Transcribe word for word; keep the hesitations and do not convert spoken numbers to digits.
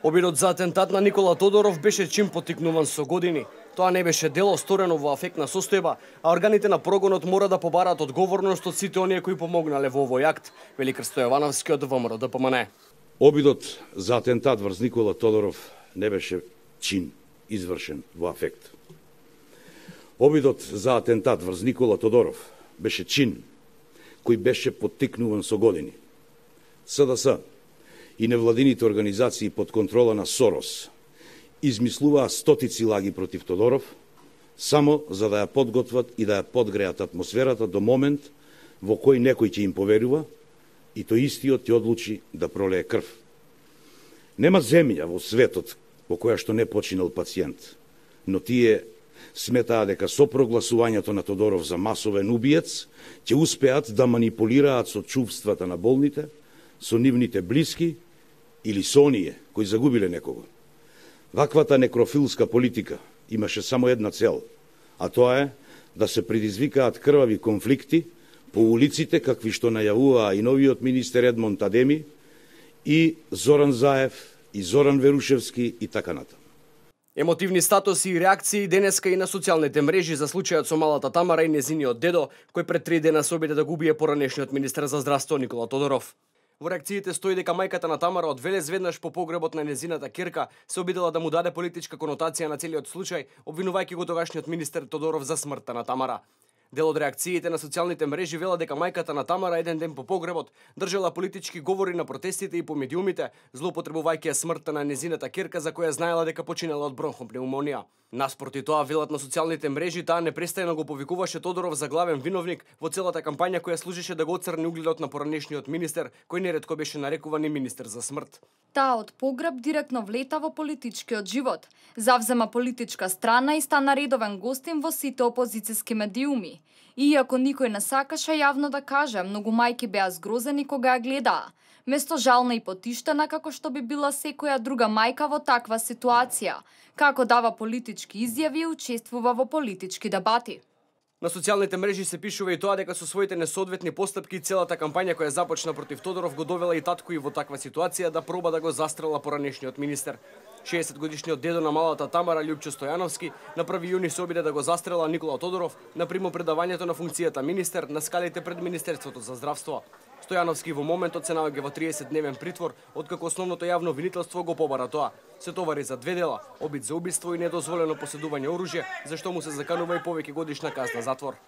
Обидот за атентат на Никола Тодоров беше чин поттикнуван со години. Тоа не беше дело сторено во афектна состојба, а органите на прогонот мора да побараат одговорност од сите оние кои помогнале во овој акт, вели Крсто Јовановски од ВМРО Д П М Н. Обидот за атентат врз Никола Тодоров не беше чин извршен во афект. Обидот за атентат врз Никола Тодоров беше чин кој беше поттикнуван со години. С Д С и невладините организации под контрола на Сорос измислуваа стотици лаги против Тодоров, само за да ја подготват и да ја подгреат атмосферата до момент во кој некој ќе им поверува и тој истиот ќе одлучи да пролее крв. Нема земја во светот во која што не починал пациент, но тие сметаа дека со прогласувањето на Тодоров за масовен убиец ќе успеат да манипулираат со чувствата на болните, со нивните блиски или со оние кои загубиле некого. Ваквата некрофилска политика имаше само една цел, а тоа е да се предизвикаат крвави конфликти по улиците, какви што најавуваа и новиот министер Едмонд Адеми, и Зоран Заев, и Зоран Верушевски и така натаму. Емотивни статуси и реакции денеска и на социјалните мрежи за случајот со малата Тамара и незиниот дедо, кој пред три дена се обиде да го убие поранешниот министер за здравство Никола Тодоров. Во реакциите стои дека мајката на Тамара од Велес веднаш по погребот на незината ќерка се обидела да му даде политичка конотација на целиот случај, обвинувајќи го тогашниот министер Тодоров за смртта на Тамара. Дел од реакциите на социјалните мрежи вела дека мајката на Тамара еден ден по погребот држала политички говори на протестите и по медиумите, злоупотребувајќи ја смртта на незината ќерка за која знаела дека починала од бронхопнеумонија. Наспроти тоа, велат на социјалните мрежи, таа непрестајно го повикуваше Тодоров за главен виновник во целата кампања која служеше да го оцрни угледот на поранешниот министер, кој неретко беше нарекуван и министер за смрт. Таа од погреб директно влета во политичкиот живот, завзема политичка страна и стана редовен гостин во сите опозициски медиуми. Иако никој не сакаше јавно да каже, многу мајки беа згрозени кога ја гледаа. Место жална и потиштена како што би била секоја друга мајка во таква ситуација, како дава политички изјави и учествува во политички дебати. На социјалните мрежи се пишува и тоа дека со своите несоодветни постапки целата кампања која започна против Тодоров го довела и татко и во таква ситуација да проба да го застрела поранешниот министер. шеесет годишниот дедо на малата Тамара, Љупчо Стојановски, на први јуни се обиде да го застрела Никола Тодоров на примопредавањето на функцијата министер на скалите пред Министерството за здравство. Стојановски во моментот се наоѓа во триесетдневен притвор, откако основното јавно обвинителство го побара тоа. Се товари за две дела, обид за убиство и недозволено поседување оружје, за што му се заканува и повеќе годишна казна затвор.